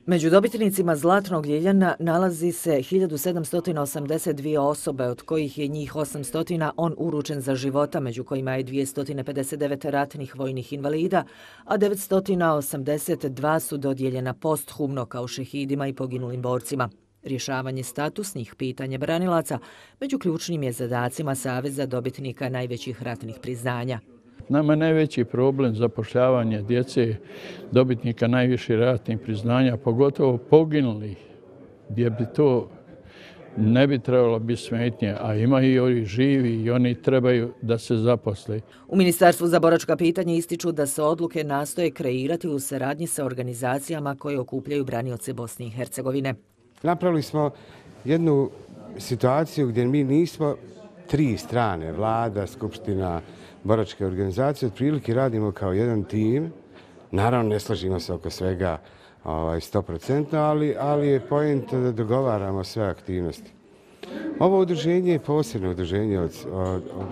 Među dobitnicima Zlatnog Ljiljana nalazi se 1782 osobe, od kojih je njih 800 on uručen za života, među kojima je 259 ratnih vojnih invalida, a 982 su dodijeljena posthumno kao šehidima i poginulim borcima. Rješavanje statusnih pitanja branilaca među ključnim je zadacima Saveza dobitnika najvećih ratnih priznanja. Nama je najveći problem zapošljavanje djece, dobitnika najviših ratnih priznanja, pogotovo poginulih, gdje bi to ne bi trebalo biti smetnje, a ima i oni živi i oni trebaju da se zaposle. U Ministarstvu za boračka pitanja ističu da se odluke nastoje kreirati u saradnji sa organizacijama koje okupljaju branioce Bosne i Hercegovine. Napravili smo jednu situaciju gdje mi nismo tri strane, vlada, skupština, boračke organizacije, otprilike radimo kao jedan tim. Naravno, ne slažimo se oko svega 100%, ali je point da dogovaramo sve aktivnosti. Ovo udruženje je posebno udruženje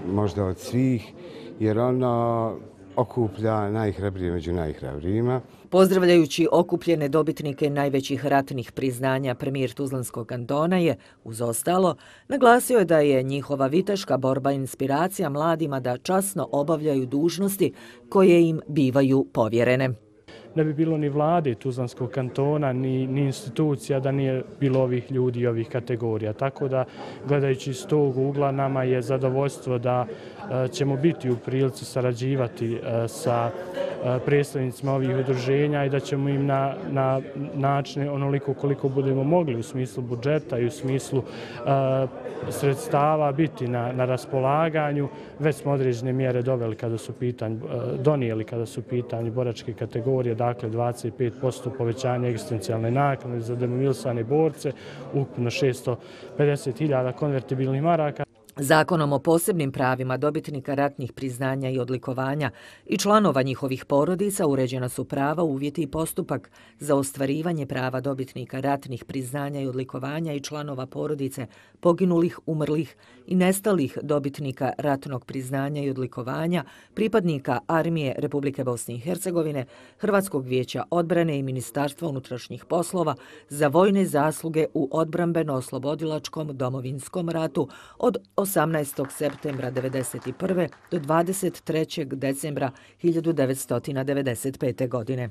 možda od svih, jer ono okuplja najhrabrije među najhrabrijima. Pozdravljajući okupljene dobitnike najvećih ratnih priznanja, premijer Tuzlanskog kantona je, uz ostalo, naglasio da je njihova viteška borba inspiracija mladima da časno obavljaju dužnosti koje im bivaju povjerene. Ne bi bilo ni vlade Tuzlanskog kantona, ni institucija da nije bilo ovih ljudi i ovih kategorija. Tako da, gledajući iz tog ugla, nama je zadovoljstvo da ćemo biti u prilici sarađivati sa predstavnicima ovih udruženja i da ćemo im na načine onoliko koliko budemo mogli u smislu budžeta i u smislu sredstava biti na raspolaganju. Već smo određene mjere donijeli kada su pitanju boračke kategorije, dakle 25% povećanja egzistencijalne naknade za demobilisane borce, ukupno 650.000 konvertibilnih maraka. Zakonom o posebnim pravima dobitnika ratnih priznanja i odlikovanja i članova njihovih porodica uređena su prava, uvjeti i postupak za ostvarivanje prava dobitnika ratnih priznanja i odlikovanja i članova porodice poginulih, umrlih i nestalih dobitnika ratnog priznanja i odlikovanja, pripadnika Armije Republike Bosne i Hercegovine, Hrvatskog vijeća odbrane i Ministarstva unutrašnjih poslova za vojne zasluge u odbrambeno-oslobodilačkom Domovinskom ratu od 18. septembra 1991. do 23. decembra 1995. godine.